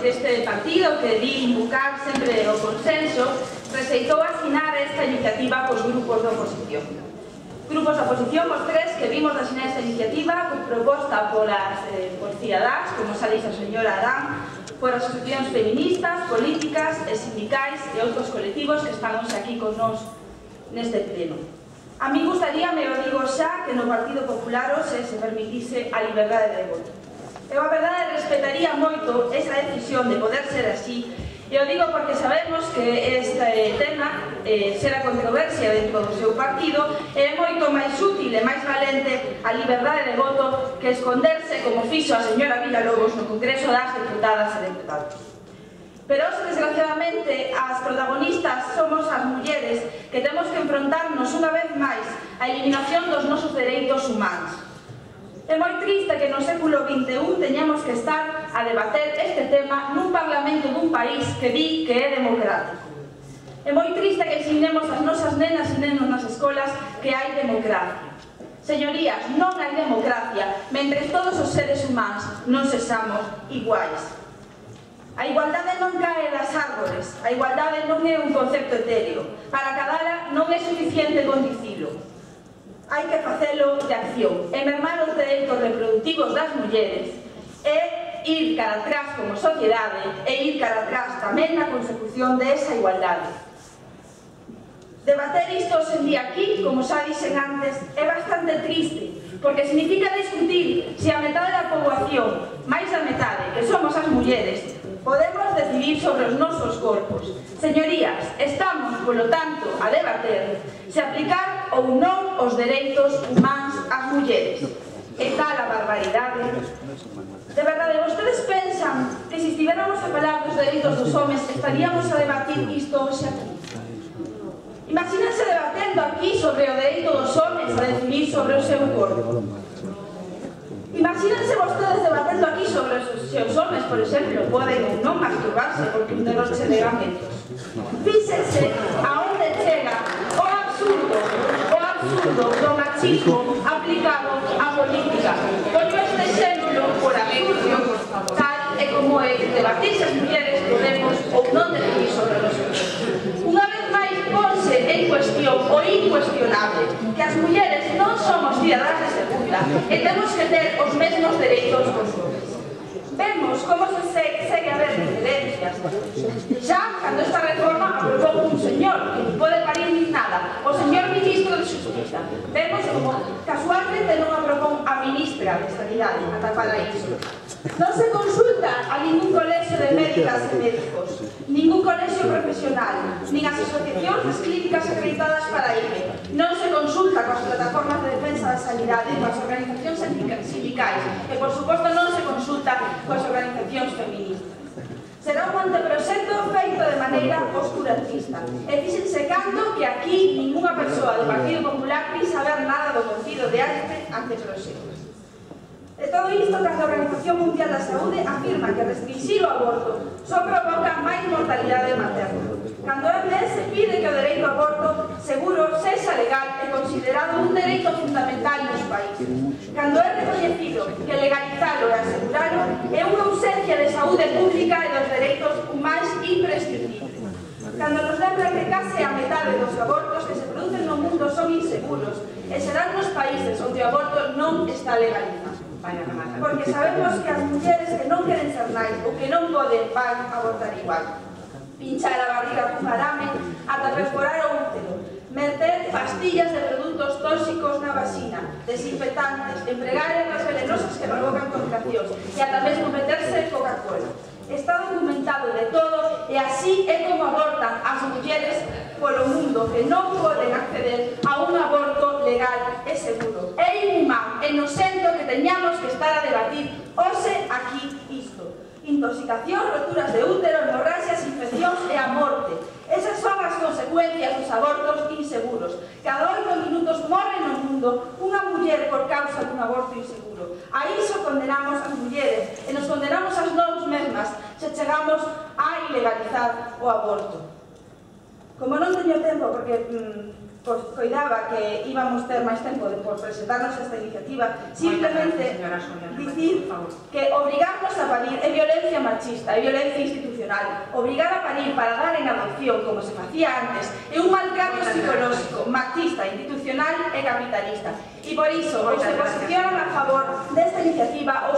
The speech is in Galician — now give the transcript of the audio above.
deste partido que di invocar sempre o consenso, receitou asinar esta iniciativa cos grupos da oposición. Grupos da oposición, os tres que vimos de asinar esta iniciativa proposta por Cidadáns, como xa dixo a señora Adán, por asociacións feministas, políticas e sindicais e outros colectivos que están hoxe aquí con nós neste pleno. A mí gustaríame, o digo xa, que no Partido Popular hoxe se permitise a liberdade de voto. Eu, a verdade, respetaría moito esa decisión de poder ser así, e o digo porque sabemos que este tema será controversia dentro do seu partido e é moito máis útil e máis valente a liberdade de voto que esconderse, como fixo a señora Villalobos no Congreso das Deputadas e Deputados. Pero, desgraciadamente, as protagonistas somos as mulleres que temos que enfrontarnos unha vez máis á eliminación dos nosos dereitos humanos. É moi triste que no século XXI teñamos que estar a debater este tema nun parlamento dun país que di que é democrático. É moi triste que ensinemos as nosas nenas e nenos nas escolas que hai democracia. Señorías, non hai democracia mentres todos os seres humanos non sexamos iguais. A igualdade non cae das árbores, a igualdade non é un concepto etéreo. Para cadala non é suficiente con dicilo. Hai que facelo de acción e mermar os dereitos reproductivos das mulleres e ir cara atrás como sociedade e ir cara atrás tamén na consecución desa igualdade. Debater isto hoxe en día aquí, como xa dixen antes, é bastante triste, porque significa discutir se a metade da poboación, máis da metade, que somos as mulleres, podemos decidir sobre os nosos corpos. Señorías, estamos, polo tanto, a debater se aplicar ou non os dereitos humanos ás mulleres. E tal a barbaridade. De verdade, vostedes pensan que se estiveramos a falar dos dereitos dos homes estaríamos a debatir isto hoxe aquí? Imagínense debatendo aquí sobre o dereito dos homes a decidir sobre o seu corpo. Imagínense vostedes debatendo aquí sobre se os homes, por exemplo, poden ou non masturbarse porque un delos che legamentos. Fíxense a onde chega o absurdo do machismo aplicado á política. Poño este exemplo por absurdo, tal e como é debatir se as mulleres podemos ou non decidir sobre os homes. Unha vez máis ponse en cuestión o incuestionable, que as mulleres non somos cidadás de segunda e temos que ter os mesmos dereitos que os homes. Vemos como se segue a ver diferencias. Xa, cando esta reforma aprobou un señor que non pode parir nin nada, o señor ministro de Xustiza. Vemos como casualmente non aprobou a ministra de Sanidade, ata para iso. Non se consulta a ningún colexio de médicas e médicos, ningún colexio profesional, nin as asociacións das clínicas acreditadas para IME. Non se consulta coas plataformas de defensa da sanidade, coas organizacións sindicais e, por suposto, non se consulta coas organizacións feministas. Será un anteproxecto feito de maneira oscurantista. E fíxense cando que aquí ninguna persoa do Partido Popular quis saber nada do contido de este anteproxecto. E todo isto cando a Organización Mundial da Saúde afirma que restringir o aborto só provoca máis mortalidade materna. Cando a OMS pide que o dereito ao aborto seguro sexa legal e considerado un dereito fundamental nos países. Cando é recoñecido que legalizalo e aseguralo é unha ausencia de saúde pública e dos dereitos humanos imprescindibles. Cando nos lembra que case a metade dos abortos que se producen no mundo son inseguros e serán nos países onde o aborto non está legalizado. Porque sabemos que as mulleres que non queren ser nais ou que non poden van a abortar igual. Pinchar a barriga cun arame ata perforar o útero, meter pastillas de produtos tóxicos na vagina, desinfectantes, empregar ervas venenosas que provocan contraccións e ata mesmo meterse Coca-Cola. Está documentado de todo e así é como abortan as mulleres polo mundo que non poden acceder a un aborto legal e seguro. É inhumano e nocento que teñamos que estar a debatir hoxe aquí isto. Intoxicación, roturas de útero, hemorraxias, infeccións e a morte. Esas son as consecuencias dos abortos inseguros. Cada 8 minutos morre no mundo unha muller por causa dun aborto inseguro. A iso condenamos as mulleres e nos condenamos as nós mesmas se chegamos a ilegalizar o aborto. Como non teño tempo, porque coidaba que íbamos ter máis tempo por presentarnos esta iniciativa, simplemente dicir que obrigarnos a parir é violencia machista, é violencia institucional. Obrigar a parir para dar en adopción, como se facía antes, é un maltrato psicolóxico, machista, institucional e capitalista. E por iso, os que posicionan a favor desta iniciativa,